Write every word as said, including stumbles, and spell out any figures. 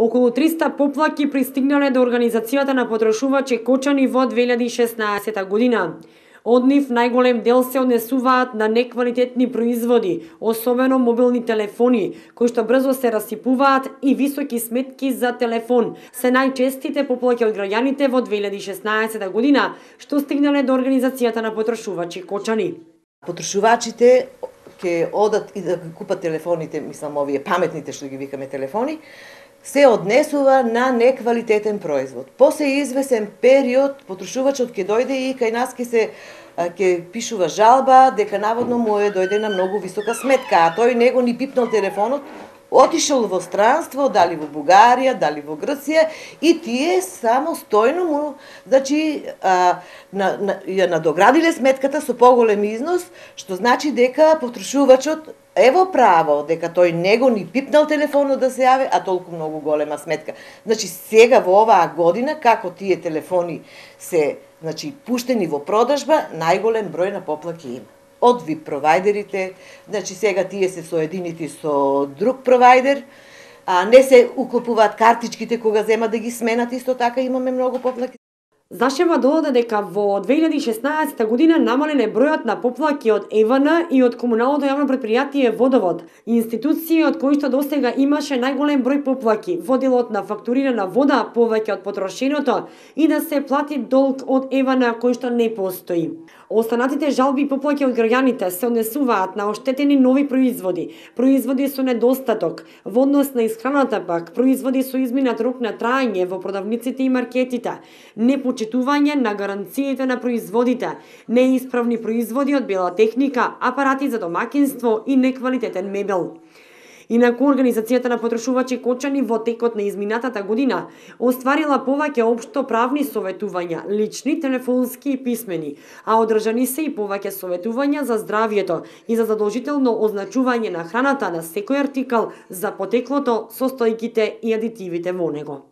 Околу триста поплаки пристигнале до Организацијата на потрошувачи Кочани во две илјади и шеснаесетта година. Од нив најголем дел се однесуваат на неквалитетни производи, особено мобилни телефони, кои што брзо се расипуваат, и високи сметки за телефон. Се најчестите поплаки од граѓаните во две илјади и шеснаесетта година, што стигнале до Организацијата на потрошувачи Кочани. Потрошувачите ќе одат и да купат телефоните, мислам овие паметните што ги викаме телефони, се однесува на неквалитетен производ. После извесен период потрошувачот ќе дојде и кај нас ќе се ќе пишува жалба дека наводно му е дојде на многу висока сметка, а тој него ни пипнал телефонот, отишол во странство, дали во Бугарија, дали во Грција, и тие само стојно му, значи, а, на, на, ја надоградиле сметката со поголем износ, што значи дека потрошувачот ево право дека тој него ни пипнал телефонот да се јави, а толку многу голема сметка. Значи сега во оваа година како тие телефони се, значи, пуштени во продажба, најголем број на поплаки има. Од ви провајдерите, значи сега тие се соединети со друг провајдер, а не се уклопуваат картичките кога земат да ги сменат, исто така имаме многу поплаки. Зашева додаде дека во две илјади и шеснаесетта година намален е бројот на поплаки од ЕВН и од комуналното јавно претпријатие Водовод, институции од кои што досега имаше најголем број поплаки во делот на фактурирана вода повеќе од потрошеното и да се плати долг од ЕВН кој што не постои. Останатите жалби и поплаки од граѓаните се однесуваат на оштетени нови производи, производи со недостаток, во однос на исхраната пак, производи со изминат рок на траење во продавниците и маркетите, непочитување на гаранциите на производите, неисправни производи од бела техника, апарати за домакинство и неквалитетен мебел. Инаку, Организацијата на потрошувачи Кочани во текот на изминатата година остварила повеќе општо правни советувања, лични, телефонски и писмени, а одржани се и повеќе советувања за здравјето и за задолжително означување на храната на секој артикал за потеклото, состојките и адитивите во него.